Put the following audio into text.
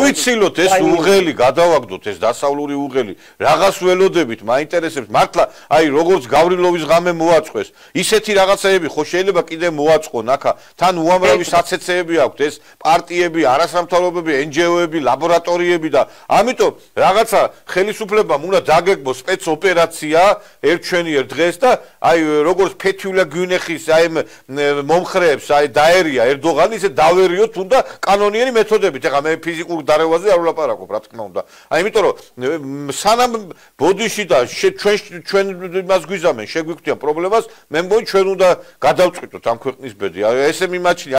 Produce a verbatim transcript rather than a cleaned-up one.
გავიცილოთ ეს უღელი, გადავაგდოთ ეს დასავლური უღელი, რაღაც ველოდებით, მაინტერესებს მართლა, აი როგორც გავრილოვის ღამე მოაწყვეს, ისეთი რაღაცეები ხო შეიძლება კიდე მოაწყონ აქა, თან უამრავი საცეცეები აქვთ, ეს პარტიები, არასამთავრობოები, εν ჯი ო-ები, ლაბორატორიები და ამიტომ რაღაცა ხელისუფლებამ უნდა დაგეგმოს სპეცოპერაცია ერთჩვენიერ დღეს და აი როგორც ფეთიულა გვინეხის აი მომხრეებს აი დაერია ერდოღანი ისე დავერიოთ თუნდა კანონიერი მეთოდებით. ეხლა მე ფიზიკურ დარევაზე არ ვლაპარაკობ, რა თქმა უნდა. აი იმიტომ რომ სანამ ბოდიში და ჩვენ ჩვენ იმას გვიზამენ, შეგვიქვთიან პრობლემას, მე მგონი ჩვენ უნდა გადავწყვიტოთ ამ ქვეყნის ბედი. აი ესე მიმაჩნია